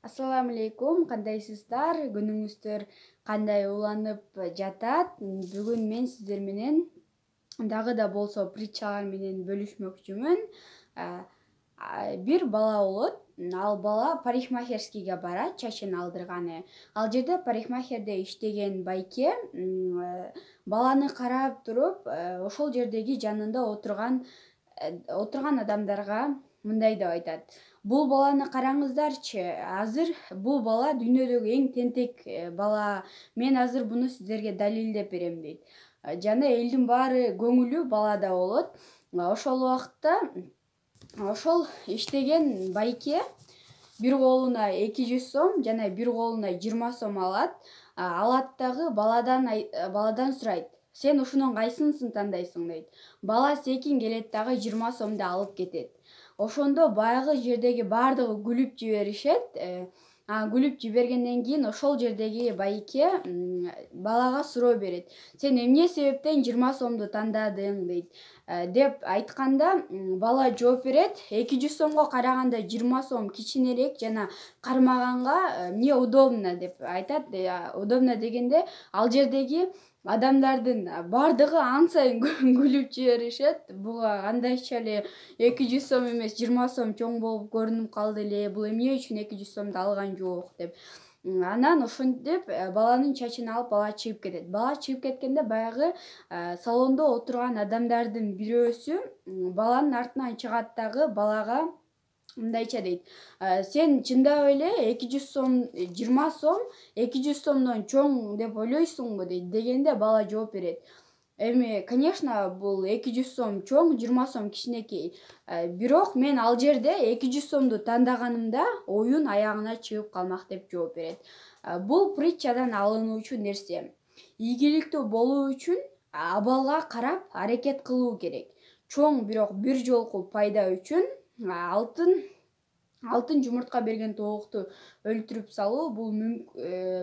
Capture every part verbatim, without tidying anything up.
Ассаламу алейкум, кандайсыздар? Күнүңүздөр кандай уланып жатат? Бүгүн мен сиздер менен дагы да болсо притчалар менен бөлүшмөкчүмүн. Бир бала болот. Ал бала парикмахерскийге барат, чачын алдырганы. Ал жерде парикмахерде иштеген байке баланы карап туруп, ошол жердеги жанында отурган отурган адамдарга мындай деп айтат: бул баланы караңыздарчы, азыр бул бала дүйнөдөгү эң тентек бала. Мен азыр буну сиздерге далилдеп берем дейт. Жана элдин баары көңүлү балада болот. Ошол убакытта ошол иштеген байке бир колуна эки жүз сом жана бир колуна жыйырма сом алат. Алат дагы баладан баладан сурайт: сен ушунун кайсынысын тандайсың дейт. Бала секин келет дагы жыйырма сомду алып кетет. Ошондо баягы жердеги баардыгы күлүп жиберишет. Күлүп жибергенден кийин ошол жердеги байке балага суроо берет: сен эмне себептен жыйырма сомду тандадың дейт. Деп айтканда бала жооп берет: эки жүз сомго караганда жыйырма сом кичинерээк жана кармаганга мне удобно деп айтат. Удобно дегенде ал жердеги адамдардын баардыгы ан сайын күлүп жиберишет. Буга кандайча эле эки жүз сом эмес жыйырма сом чоң болуп көрүнүп калды эле, бул эмне үчүн эки жүз сомду алган жок деп. Анан ошентип баланын чачын алып бала чыгып кетет. Бала чыгып кеткенде баягы салондо отурган адамдардын бирөөсү баланын артынан чыгат дагы балага мындайча дейт: сен чындап эле эки жүз сом жыйырма сом эки жүз сомдон чоң деп ойлойсуңбу дейт. Дегенде бала жооп берет: эми конечно бул эки жүз сом чоң, жыйырма сом кичинекей. Бирок мен ал жерде эки жүз сомду тандаганымда оюн аягына чыгып калмак деп жооп берет. Бул притчадан алынуучу нерсе: ийгиликтүү болуу үчүн абалга карап аракет кылуу керек. Чоң бирок бир жолку пайда үчүн алтын алтын жумуртка берген тоокто өлтүрүп салуу бул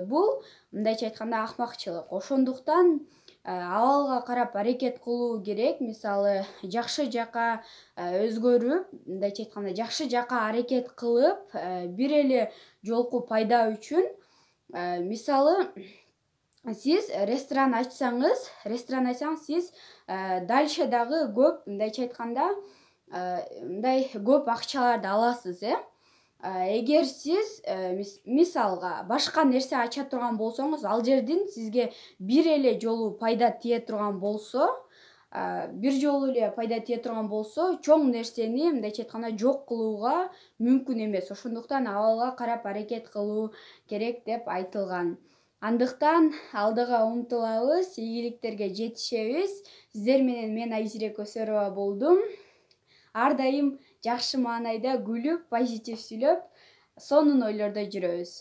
бул мындайча айтканда акмакчылык. Ошондуктан абалга карап аракет кылуу керек. Мисалы, жакшы жака өзгөрүп, мындайча айтканда жакшы жака аракет кылып, бир эле жолку пайда үчүн. Мисалы, сиз ресторан ачсаңыз, ресторан ачсаңыз, сиз дальше дагы көп, мындайча айтканда, мындай көп акчаларды аласыз, э? Эгер сиз мисалга башка нерсе ача турган болсоңуз, ал жерден сизге бир эле жолу пайда тие турган болсо, бир жолу эле пайда тие турган болсо, чоң нерсени мындайча айтканда жок кылууга мүмкүн эмес. Ошондуктан абалга карап аракет кылуу керек деп айтылган. Андыктан алдыга умтулабыз, ийгиликтерге жетишебиз. Сиздер менен мен Айзире Көсөрова болдум. Ар дайым жакшы маанайда күлүп, позитив сүйлөп, сонун ойлордо жүрөбүз.